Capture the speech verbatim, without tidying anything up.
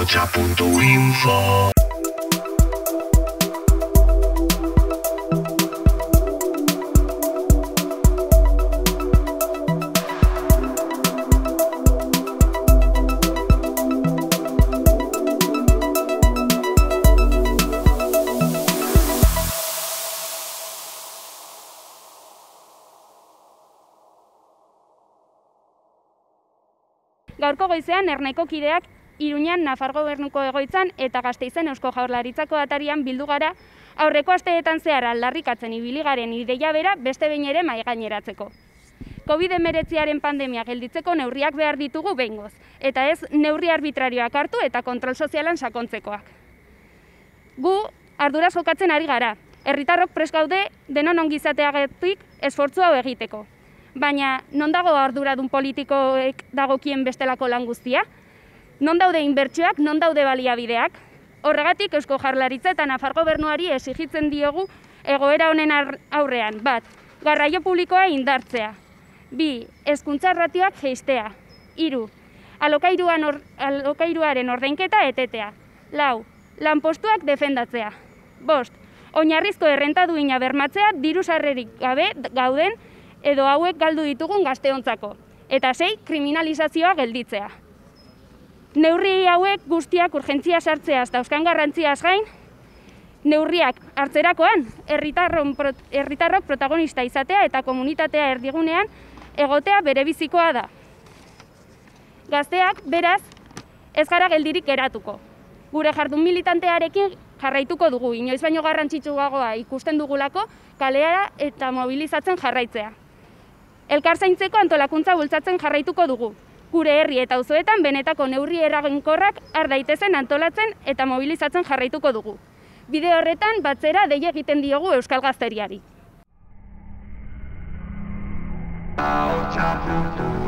ahotsa puntu info. Gaurko goizean Erneko kideak Iruñan Nafar Gobernuko egoitzan eta Gasteizen Eusko Jaurlaritzako atarian bildu gara aurreko asteetan zehar aldarrikatzen ibili garen ideia bera beste behin ere mahaigaineratzeko. covid hemeretziaren pandemia gelditzeko neurriak behar ditugu behingoz, eta ez neurri arbitrarioak hartu eta kontrol sozialan sakontzekoak. Gu arduraz jokatzen ari gara, herritarrok prest gaude denon ongizateagatik esfortzu hau egiteko. Baina, non dago arduradun politikoek dagokien bestelako lan guztia? Non daude inbertsioak, non daude baliabideak? Horregatik Eusko Jaurlaritza eta Nafar Gobernuari exigitzen diogu egoera honen aurrean. Bat, garraio publikoa indartzea. Bi, hezkuntza ratioak jeistea. Hiru, alokairuaren ordainketa etetea. Lau, lanpostuak defendatzea. Bost, oinarrizko errenta duina bermatzea diru sarrerik gabe gauden edo hauek galdu ditugun gazteontzako. Eta sei, kriminalizazioa gelditzea. Neurri hauek guztiak urgentzia sartzeaz dauzkan garrantziaz gain, neurriak hartzerakoan herritarrok protagonista izatea eta komunitatea erdigunean egotea berebizikoa da. Gazteak, beraz, ez gara geldirik geratuko. Gure jardun militantearekin jarraituko dugu, inoiz baino garrantzitsuagoa ikusten dugulako kalea eta mobilizatzen jarraitzea. Elkarzaintzeko antolakuntza bultzatzen jarraituko dugu. Gure herri eta auzoetan benetako neurri eraginkorrak har daitezen antolatzen eta mobilizatzen jarraituko dugu. Bide horretan batzera deia egiten diogu euskal gazteriari. ahotsa puntu